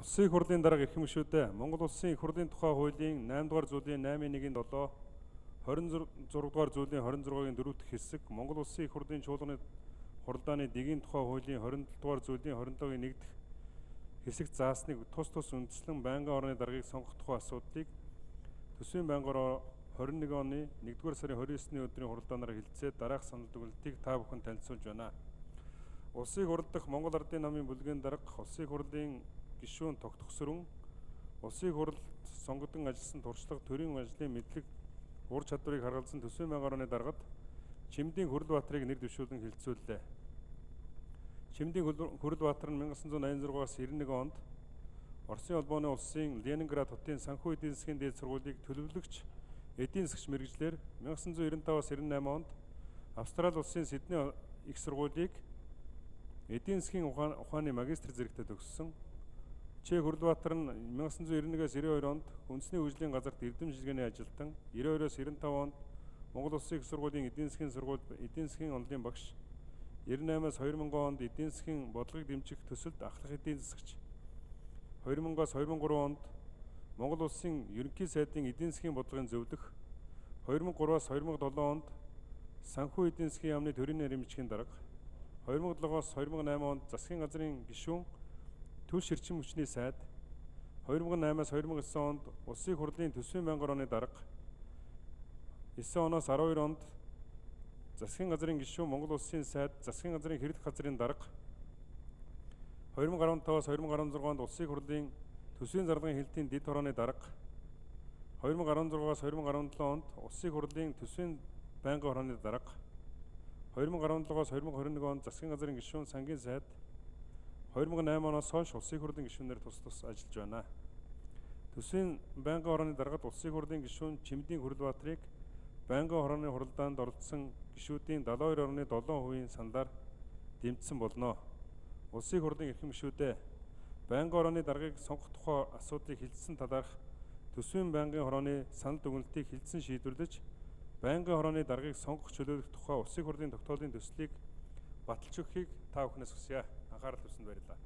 Улсын их хурлын дарга эрхэм гишүүдээ Монгол улсын их хурлын тухай хуулийн 8 дугаар зүйлийн 8.1-7 26 дугаар зүйлийн 26-гийн 4 дахь хэсэг Монгол улсын их хурлын чуулганы хуралдааны дэгийн тухай хуулийн 27 дугаар зүйлийн 27-гийн 1 дахь хэсэг заасныг тус үндэслэн байнгын орны даргыг сонгох тухай асуудлыг төсвийн байнгын орон 21 оны 1-р сарын 29-ний өдрийн хуралдаанаар хэлэлцээд дараах санал дүгнэлтийг та бүхэн танилцуулж байна. Улсын их хурл дахь Монгол Ардын намын бүлгийн дарга улсын их хурлын гишүүн тогтгосрон улсын их хурлд сонгогдсон ажилласан туршлага төрийн ажлын мэдлэг ур чадварыг харгалзан төсвийн байнгын орны даргад Чимдийн Хүрлбаатарыг нэр дэвшүүлэн хэлэлцүүллээ. Чимдийн Хүрлбаатар нь 1986-аас 91 онд Оросын холбооны улсын Ленинград хотын санхүү эдийн засгийн дээд сургуулийг төлөвлөгч эдийн засгч мэргэжлэр 1995-аас 98 онд Австрали улсын Сидней их сургуулийг эдийн засгийн ухааны магистр зэрэгтээ төгссөн. Ч. Хүрлбаатар нь 1991-ээс 92 онд үндэсний хөгжлийн газарт эрдэм шилгээний ажилтан, 92-оос 95 онд Монгол Улсын их сургуулийн эдийн засгийн сургууль эдийн засгийн онолын багш, 98-аас 2000 онд эдийн засгийн бодлогыг дэмжих төсөлд ахлах эдийн засагч, 2000-аас 2003 онд Монгол Улсын ерөнхий сайдын эдийн засгийн бодлогын зөвлөх, 2003-аас 2007 онд санхүү эдийн засгийн яамны төрийн нэрмжгийн дарга, 2007-оос 2008 онд засгийн газрын гишүүн төл ширчин хүчний сайд, 2008-аас 2009 онд улсын их хурлын төсвийн байнгын орны дарга, 9 оноос 12 онд засгийн газрын гишүүн Монгол улсын сайд, засгийн газрын хэрэглэх газрын дарга, 2015-аас 2016 онд улсын их хурлын төсвийн зарлагын хэлтийн дэд хорооны дарга, 2016-аас 2017 онд улсын их хурлын төсвийн байнгын хорооны дарга, 2017-аас 2021 онд засгийн газрын гишүүн сангийн сайд, 2008 оноос хойш улсын их хурлын гишүүнээр тус ажиллаж байна. Төсвийн байнгын хорооны даргад улсын их хурлын гишүүн Чимдийн Хүрлбаатарыг байнгын хорооны хуралдаанд оролцсон гишүүдийн 72.7% саналаар дэмжсэн болно. Улсын их хурлын эрхэм гишүүдээ байнгын хорооны даргыг сонгох тухай асуудлыг хэлэлцсэн талаарх төсвийн байнгын хорооны санал дүгнэлтийг хэлэлцэн шийдвэрлэж, байнгын хорооны даргыг сонгох чөлөөлөх тухай улсын их хурлын тогтоолын төслийг баталж өгөхийг та бүхнээс хүсье. Анхаарал тавьсанд баярлалаа.